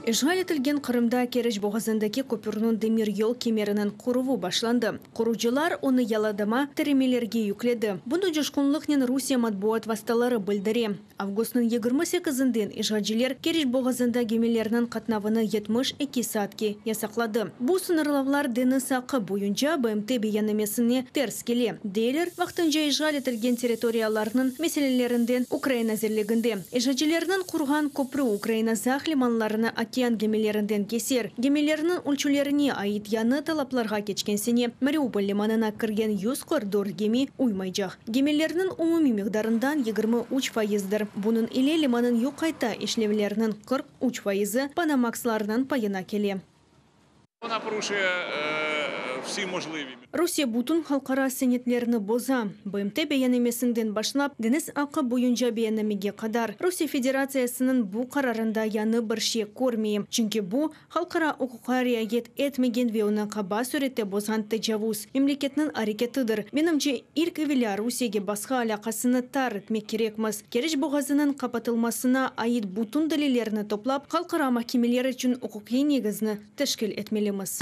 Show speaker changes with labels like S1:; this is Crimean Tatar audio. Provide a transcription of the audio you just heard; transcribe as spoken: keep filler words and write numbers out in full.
S1: İşğal etilgen Qırımda Keriç boğazındaki köpürniñ demiryol kemeriniñ quruvı başlandı. Qurucılar onı yalıdama tiremelerge yükledi. Bunı coşqunlıqnen Rusiye matbuat vastaları bildire. Avgustnıñ yigirmi sekizinden işğalciler Keriç boğazında gemilerniñ qatnavını yetmiş eki saatke yasaqladı. Bu sıñırlavlar deñiz aqqı boyunca B M T beyannamesine ters kele, deyler vaqtınca işğal etilgen territoriyalarnıñ meselelerinden Ukraina nazirliginde. İşğalcilerniñ qurğan köprü Ukraina Saq limanlarını okean gemilerinden keser. Gemilerniñ ölçülerine ait yañı talaplarğa keçken sene Mariupol limanına kirgen yüz qırq dört gemi uymaycaq. Gemilerniñ umumiy miqdarından yigirmi üç fayızdır. Bunıñ ile limannıñ yük qayta işlevleriniñ qırq üç fayızı Panamaxlarnıñ payına kele.
S2: Вона порушує е, всі можливі
S1: Rusiye bütün halqara senetlerini boza. B M T beyannamesinden başlap, deñiz aqqı boyunca beyannamege qadar. Rusiye Federatsiyasınıñ bu qararında yañı bir şey körmeyim. Çünki bu, halqara uquqqa riayet etmegen ve onı qaba sürette bozğan tecavuz memleketniñ areketidir. Menimce, ilk evelâ Rusiyege basqı alâqasını tar etmek kerekmiz. Keriç boğazınıñ qapatılmasına ait bütün delillerni toplap, halqara mahkemeler içün uquqiy negizni teşkil etmelimiz.